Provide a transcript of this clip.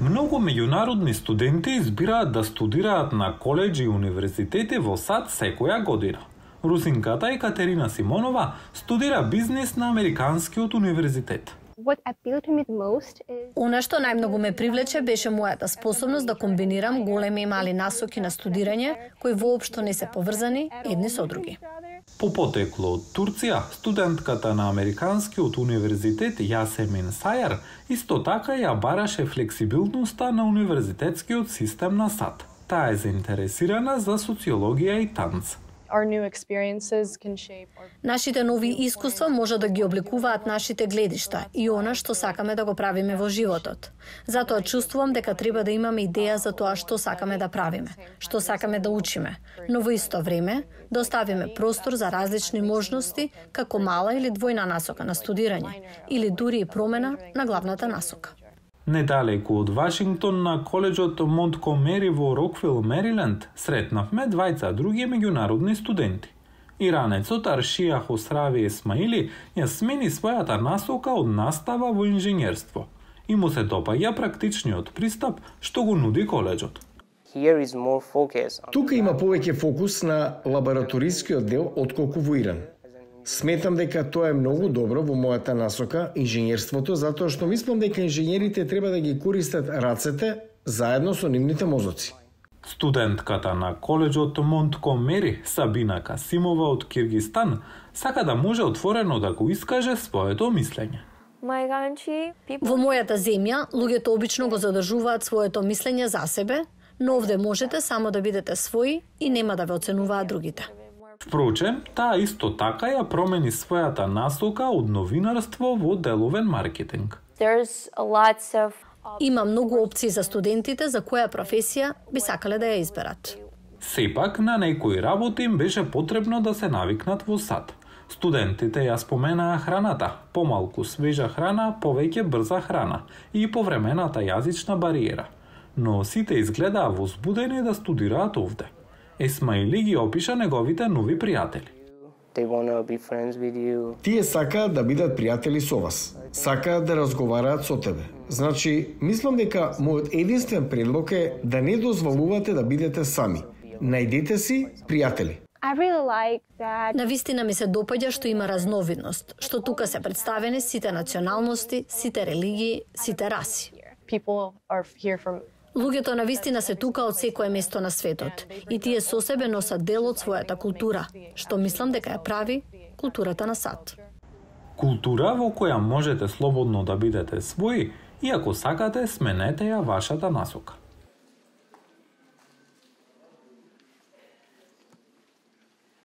Многу меѓународни студенти избираат да студираат на колеџи и универзитети во САД секоја година. Русинката Екатерина Симонова студира бизнис на Американскиот универзитет. Она што најмногу ме привлече беше мојата способност да комбинирам големи и мали насоки на студирање, кои воопшто не се поврзани едни со други. По потекло од Турција, студентката на Американскиот универзитет Јасемин Сајар исто така ја бараше флексибилноста на универзитетскиот систем на САД. Таа е заинтересирана за социологија и танц. Нашите нови искуства може да ги обликуваат нашите гледишта и она што сакаме да го правиме во животот. Затоа чувствувам дека треба да имаме идеја за тоа што сакаме да правиме, што сакаме да учиме, но во исто време да оставиме простор за различни можности како мала или двојна насока на студирање или дури и промена на главната насока. Недалеку од Вашингтон на колеџот Монткомери во Роквил, Мериленд, сретнавме двајца други меѓународни студенти. Иранецот Аршија Хосрави Есмаили ја смени својата насока од настава во инженерство и му се допаѓа практичниот пристап што го нуди колеџот. Тука има повеќе фокус на лабораторискиот дел отколку во Иран. Сметам дека тоа е многу добро во мојата насока, инженерството, затоа што мислам дека инженерите треба да ги користат рацете заедно со нивните мозоци. Студентката на колеџот Монткомери, Сабина Касимова од Киргистан, сака да може отворено да го искаже своето мислење. Во мојата земја, луѓето обично го задржуваат своето мислење за себе, но овде можете само да бидете своји и нема да ве оценуваат другите. Впрочем, таа исто така ја промени својата насока од новинарство во деловен маркетинг. Има многу опции за студентите за која професија би сакале да ја изберат. Сепак, на некои работи им беше потребно да се навикнат во САД. Студентите ја споменаа храната, помалку свежа храна, повеќе брза храна и повремената јазична бариера. Но сите изгледаа возбудени да студираат овде. Есмаили ги опиша неговите нови пријатели. Тие сакаат да бидат пријатели со вас. Сакаат да разговараат со тебе. Значи, мислам дека мојот единствен предлог е да не дозволувате да бидете сами. Најдете си пријатели. Навистина ми се допаѓа што има разновидност, што тука се представени сите националности, сите религии, сите раси. Луѓето навистина се тука од секое место на светот и тие со себе носат дел од својата култура, што мислам дека ја прави културата на САД. Култура во која можете слободно да бидете своји и ако сакате сменете ја вашата насока.